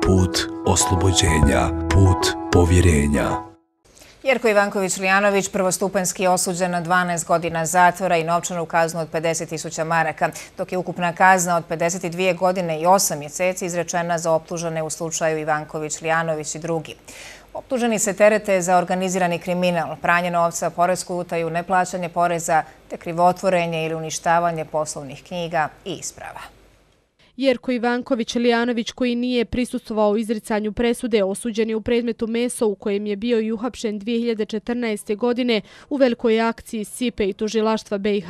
put oslobođenja, put povjerenja. Jerko Ivanković-Lijanović prvostupanjski je osuđen na 12 godina zatvora i novčanu kaznu od 50.000 maraka, dok je ukupna kazna od 52 godine i 8 mjeseci izrečena za optužene u slučaju Ivanković-Lijanović i drugi. Optuženi se terete za organizirani kriminal, pranje novca, poresku utaju, neplaćanje poreza te krivotvorenje ili uništavanje poslovnih knjiga i isprava. Jerko Ivanković-Lijanović, koji nije prisustvovao izricanju presude, osuđen je u predmetu Meso u kojem je bio i uhapšen 2014. godine u velikoj akciji SIPE i tužilaštva BiH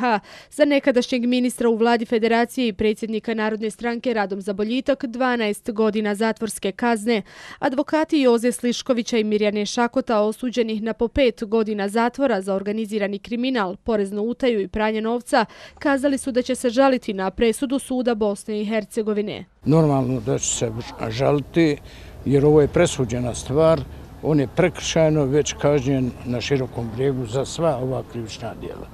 za nekadašnjeg ministra u vladi Federacije i predsjednika Narodne stranke Radom za boljitak 12 godina zatvorske kazne. Advokati Joze Sliškovića i Mirjane Šakota, osuđenih na po 5 godina zatvora za organizirani kriminal, poreznu utaju i pranje novca, kazali su da će se žaliti na presudu suda Bosne i Hercegovine. Normalno da će se žaliti jer ovo je presuđena stvar, on je prekršajno već kažnjen na Širokom Brijegu za sva ova krivična djela.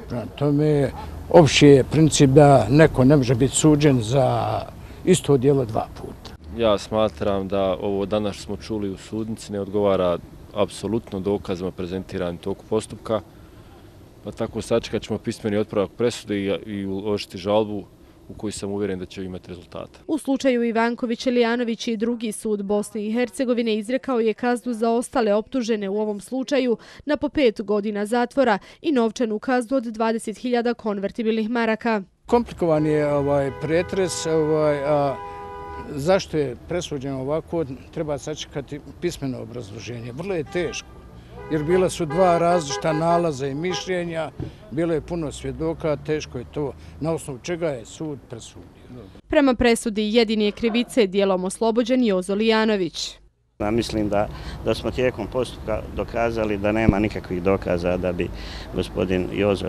Prema tome, opći je princip da neko ne može biti suđen za isto djelo 2 puta. Ja smatram da ovo danas smo čuli u sudnici ne odgovara apsolutno dokazima prezentiranim toku postupka, pa tako sačekat ćemo pismeni otpravak presude i uložiti žalbu u koji sam uvjeren da će imati rezultata. U slučaju Ivanković-Lijanović i drugi sud Bosne i Hercegovine izrekao je kaznu za ostale optužene u ovom slučaju na po 5 godina zatvora i novčanu kaznu od 20.000 konvertibilnih maraka. Komplikovan je pretres, zašto je presuđeno ovako, treba sačekati pismeno obrazloženje. Vrlo je teško, jer bile su 2 različita nalaza i mišljenja, bilo je puno svjedoka, teško je to na osnovu čega je sud presudio. Prema presudi jedini je krivice dijelom oslobođen Jozo Lijanović. Mislim da smo tijekom postupka dokazali da nema nikakvih dokaza da bi gospodin Jozo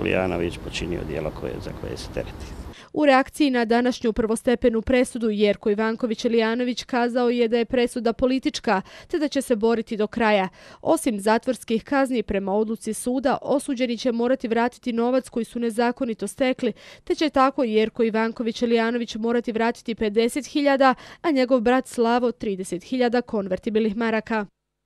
Lijanović počinio djelo za koje se tereti. U reakciji na današnju prvostepenu presudu Jerko Ivanković-Lijanović kazao je da je presuda politička te da će se boriti do kraja. Osim zatvorskih kazni prema odluci suda, osuđeni će morati vratiti novac koji su nezakonito stekli, te će tako Jerko Ivanković-Lijanović morati vratiti 50.000, a njegov brat Slavo 30.000 konvertibilnih maraka.